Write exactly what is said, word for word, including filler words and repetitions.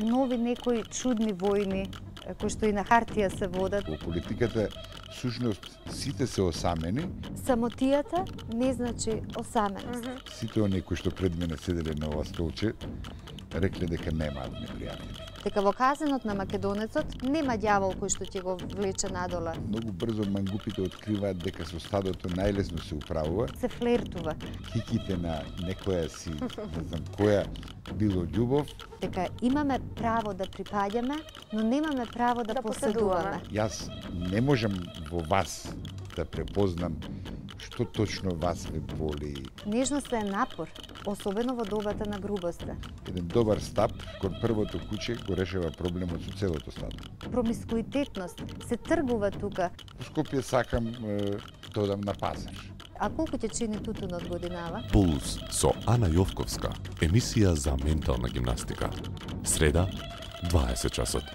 нови некои чудни војни кои што и на хартија се водат. Во политиката сушност сите се осамени. Самотијата не значи осаменост. Mm -hmm. Сите оние кои што пред мене седеле на ова столче рекле дека немаат непријатели. Дека во казенот на македонецот нема ѓавол кој што ќе го влече надола. Многу брзо мангупите откриваат дека со стадото најлесно се управува. Се флертува. Хиките на некоја си, не знам која, било љубов. Дека имаме право да припаѓаме, но немаме право да, да поседуваме. Јас не можам во вас да препознам што точно вас ве боли. Нежноста е напор, особено во добата на грубоста. Еден добар стап кон првото куче го решава проблемот со целото стадо. Промискуитетност се тргува тука. Во Скопје сакам е, додам на пазар. А колку ќе чини тутунот годинава? Пулс со Ана Јовковска, емисија за ментална гимнастика. Среда, дваесет часот.